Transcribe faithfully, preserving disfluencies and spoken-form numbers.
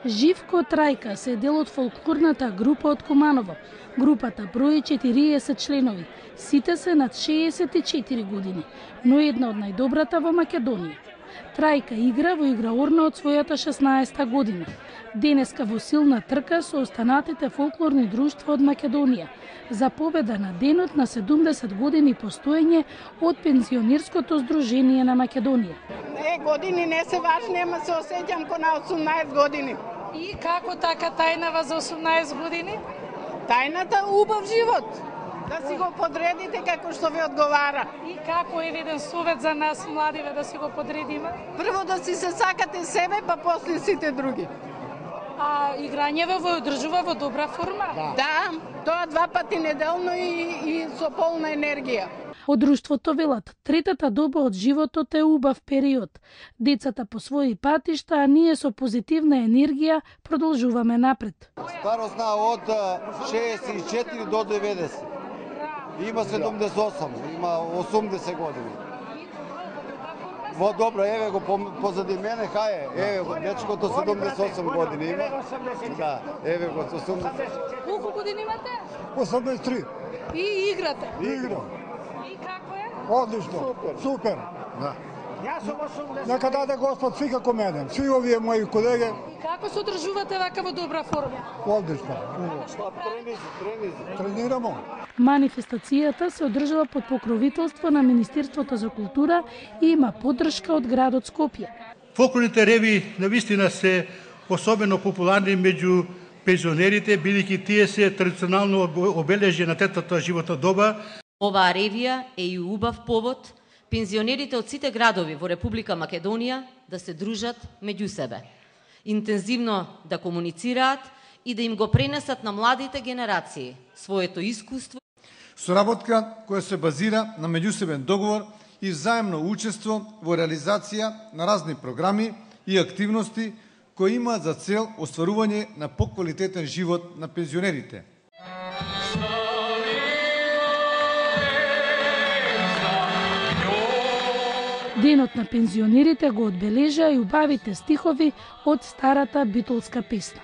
Живко Трајка се дел од фолклорната група од Куманово. Групата брои четириесет членови, сите се над шеесет и четири години, но една од најдобрата во Македонија. Трајка игра во играорна од својата шеснаесета година. Денеска во силна трка со останатите фолклорни друштва од Македонија за победа на денот на седумдесет години постоење од Пензионерското здружение на Македонија. Е, години не се важни, ама се осеќам ко на осумнаесет години. И како така тајнава за осумнаесет години? Тајната убав живот. Да си го подредите како што ви одговара. И како е еден совет за нас младиве да си го подредиме? Прво да си се сакате себе, па после сите други. А играњето во одржува во добра форма? Да, да, тоа два пати неделно и, и со полна енергија. Од друштвото велат, третата доба од животот е убав период. Децата по своји патишта, а ние со позитивна енергија продолжуваме напред. Старосна од шеесет и четири до деветдесет. Има седумдесет и осум, има осумдесет години. Во добро, еве го позади мене, хај е, еве го дечкото седумдесет и осум години има. Да, еве го осумдесет. Колку години имате? осумдесет и три. И играте? Играм. И како е? Одлично. Супер. Супер. Да. Нека даде Господ сви како мене, сви овие мои колеги. Како се одржувате вака во добра форма? Одлично. Тренирамо. Манифестацијата се одржава под покровителство на Министерството за култура и има поддршка од градот Скопје. Фолклорните реви навистина се особено популарни меѓу пензионерите, бидејќи тие се традиционално обележје на третата животна доба. Оваа ревија е и убав повод пензионерите од сите градови во Република Македонија да се дружат меѓу себе, интензивно да комуницираат и да им го пренесат на младите генерации своето искуство. Соработка која се базира на меѓусебен договор и взаемно учество во реализација на разни програми и активности кои имаат за цел остварување на поквалитетен живот на пензионерите. Денот на пензионерите го одбележаа и убавите стихови од старата битолска песна.